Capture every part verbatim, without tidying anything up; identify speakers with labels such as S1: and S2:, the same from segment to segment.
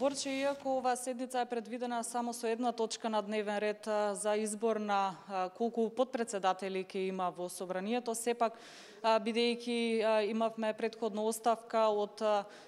S1: Борче, иако оваа седница е предвидена само со една точка на дневен ред за избор на колку подпредседатели ќе има во собранието, сепак бидејќи имавме предходна оставка од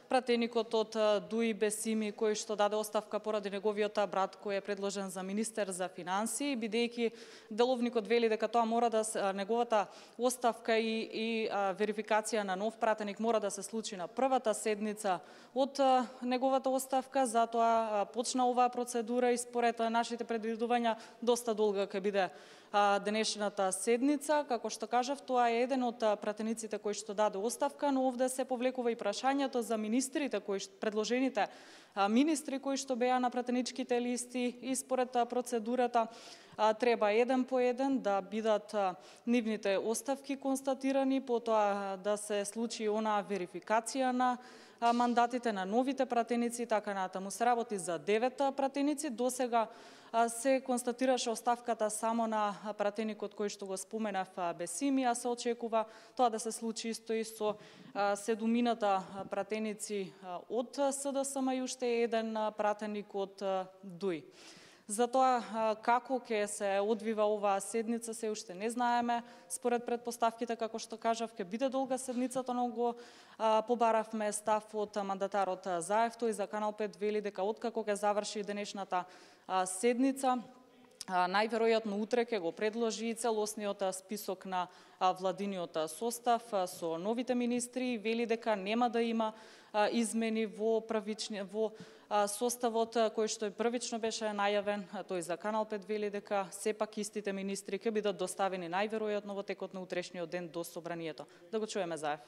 S1: пратеникот од Дуи Бесими, кој што даде оставка поради неговиот брат кој е предложен за министер за финансии, бидејќи деловникот вели дека тоа мора да неговата оставка и, и верификација на нов пратеник мора да се случи на првата седница од неговата оставка, затоа почна оваа процедура и според нашите предвидувања доста долга ќе биде денешната седница. Како што кажав, тоа е еден од пратениците кој што даде оставка, но овде се повлекува и прашањето за министрите, кои што, предложените министри кои што беа на пратеничките листи и според процедурата треба еден по еден да бидат нивните оставки констатирани, потоа да се случи онаа верификација на мандатите на новите пратеници, така натаму се работи за девет пратеници. Досега се констатираше оставката само на пратеникот кој што го споменав Бесими, а се очекува тоа да се случи исто и со седумината пратеници од СДСМ и уште еден пратеник од Дуи. Затоа како ќе се одвива оваа седница се уште не знаеме. Според предпоставките, како што кажав, ќе биде долга седницата, но го побаравме став од мандатарот Заев. Тој за Канал пет вели дека откако ќе заврши денешната седница, најверојатно утре ќе го предложи и целосниот список на владиниот состав со новите министри. Вели дека нема да има измени во првични во составот кој што и првично беше најавен. Тој за Канал пет вели дека сепак истите министри ќе бидат доставени најверојатно во текот на утрешниот ден до собранието. Да го чуеме Заев.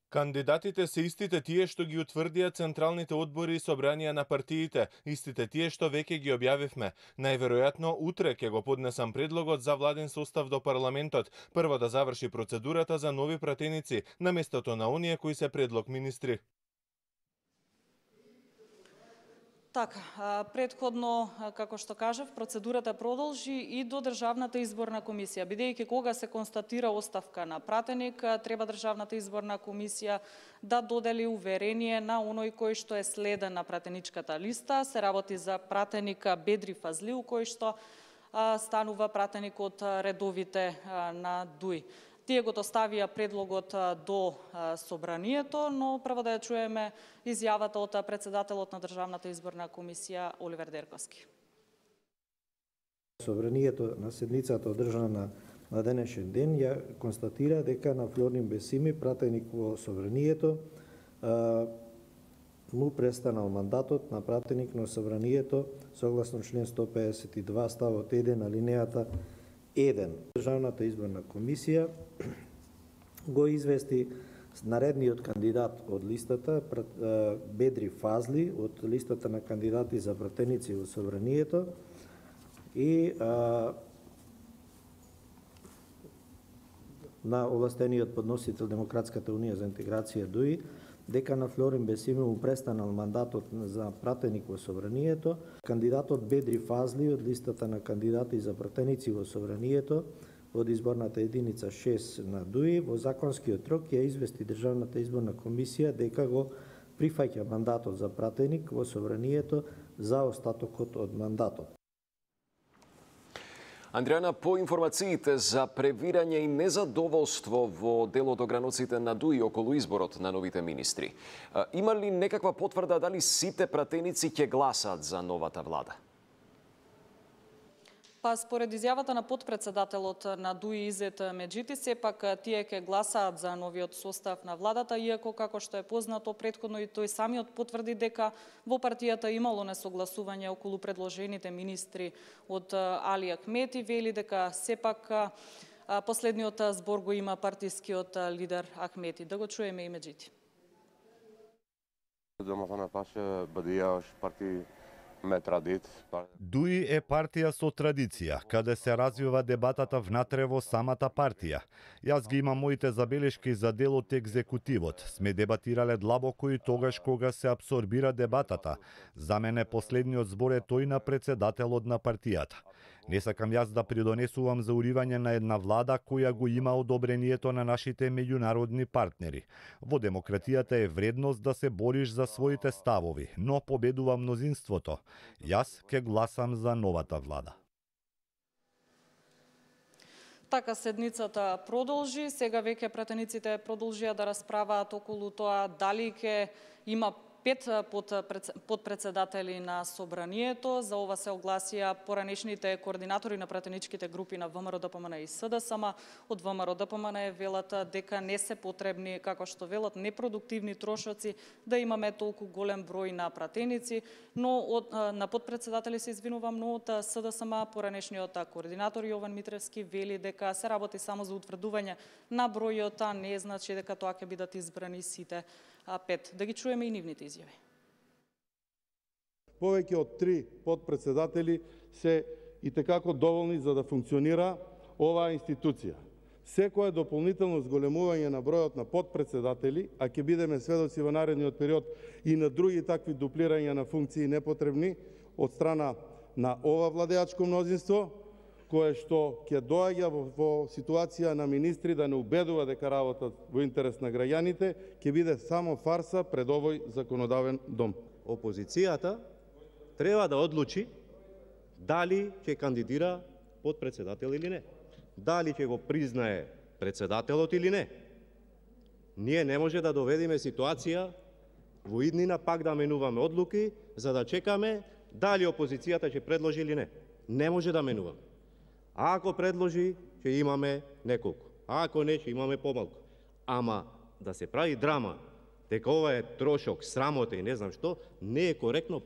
S2: Кандидатите се истите тие што ги утврдија централните одбори и собранија на партиите, истите тие што веќе ги објавивме. Најверојатно утре ќе го поднесам предлогот за владен состав до парламентот, прво да заврши процедурата за нови пратеници, на местото на оние кои се предлог министри.
S1: Така, предходно, како што кажав, процедурата продолжи и до Државната изборна комисија. Бидејќи кога се констатира оставка на пратеник, треба Државната изборна комисија да додели уверение на оној кој што е следен на пратеничката листа. Се работи за пратеник Бедри Фазлиу, кој што станува пратеник од редовите на Дуи. Тие го доставија предлогот до собранието, но прво да ја чуеме изјавата од председателот на Државната изборна комисија Оливер Дерковски.
S3: Собранието на седницата одржана на денешен ден ја констатира дека на Флорин Бесими, пратеник во собранието, му престанал мандатот на пратеник на собранието согласно член сто педесет и два ставот еден алинејата еден. Државната изборна комисија го извести наредниот кандидат од листата Бедри Фазли од листата на кандидати за пратеници во собранието и а, на овластениот подносител Демократската унија за интеграција Дуи дека на Флорин Бесими му престанал мандатот за пратеник во собранието. Кандидатот Бедри Фазли од листата на кандидати за пратеници во собранието од изборната единица шест на Дуи во законскиот рок ја извести Државната изборна комисија дека го прифаќа мандатот за пратеник во собранието за остатокот од мандатот.
S4: Андријана, по информациите за превирање и незадоволство во дел од ограноците на Дуи околу изборот на новите министри, има ли некаква потврда дали сите пратеници ќе гласаат за новата влада?
S1: Па според изјавата на подпредседателот на Дуи Изет Меджити, сепак тие ќе гласаат за новиот состав на владата, иако како што е познато претходно и тој самиот потврди дека во партијата имало несогласување околу предложените министри од Али Ахмети, вели дека сепак последниот збор го има партискиот лидер Ахмети. Да го чуеме и Меджити.
S5: Дуи е партија со традиција, каде се развива дебатата внатре во самата партија. Јас ги имам моите забелешки за дел од екзекутивот. Сме дебатирале длабоко и тогаш кога се абсорбира дебатата. За мене последниот збор е тој на председателот на партијата. Не сакам јас да придонесувам за уривање на една влада која го има одобрението на нашите меѓународни партнери. Во демократијата е вредност да се бориш за своите ставови, но победува мнозинството. Јас ќе гласам за новата влада.
S1: Така седницата продолжи. Сега веќе пратениците продолжија да расправаат околу тоа дали ќе има пет подпредседатели на собранието. За ова се огласија поранешните координатори на пратеничките групи на ВМРО ДПМН и СДСМ. Од ВМРО ДПМН велат дека не се потребни, како што велат, непродуктивни трошоци да имаме толку голем број на пратеници, но од, на подпредседатели се извинувам, но од СДСМ поранешниот координатор Јован Митревски вели дека се работи само за утврдување на бројот, а не значи дека тоа ќе бидат избрани сите пет. Да ги чуеме и нивните изјави.
S6: Повеќе од три подпредседатели се и текако доволни за да функционира оваа институција. Секое дополнително зголемување на бројот на подпредседатели, а ќе бидеме сведоци во наредниот период и на други такви дуплирања на функции непотребни од страна на ова владеачко мнозинство, кое што ќе доаѓа во, во ситуација на министри да не убедува дека работат во интерес на граѓаните, ќе биде само фарса пред овој законодавен дом.
S7: Опозицијата треба да одлучи дали ќе кандидира подпредседател или не. Дали ќе го признае председателот или не. Ние не може да доведеме ситуација во иднина пак да менуваме одлуки за да чекаме дали опозицијата ќе предложи или не. Не може да менуваме. А ако предложи, ќе имаме неколку. А ако не, ќе имаме помалку. Ама да се прави драма, дека ова е трошок, срамота и не знам што, не е коректно.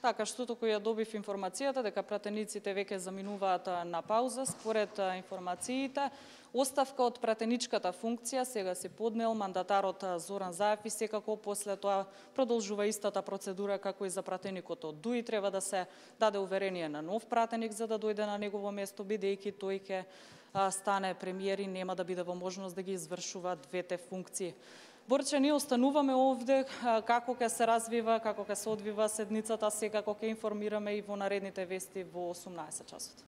S1: Така, што току ја добив информацијата дека пратениците веќе заминуваат на пауза. Според информациите, оставка од пратеничката функција сега се поднел мандатарот Зоран Заев и секако после тоа продолжува истата процедура како и за пратеникот од ДУИ. Треба да се даде уверение на нов пратеник за да дојде на негово место, бидејќи тој ќе стане премиер и нема да биде во можност да ги извршува двете функции. Борче, ние остануваме овде како ќе се развива, како ќе се одвива седницата, секако ќе информираме и во наредните вести во осумнаесет часот.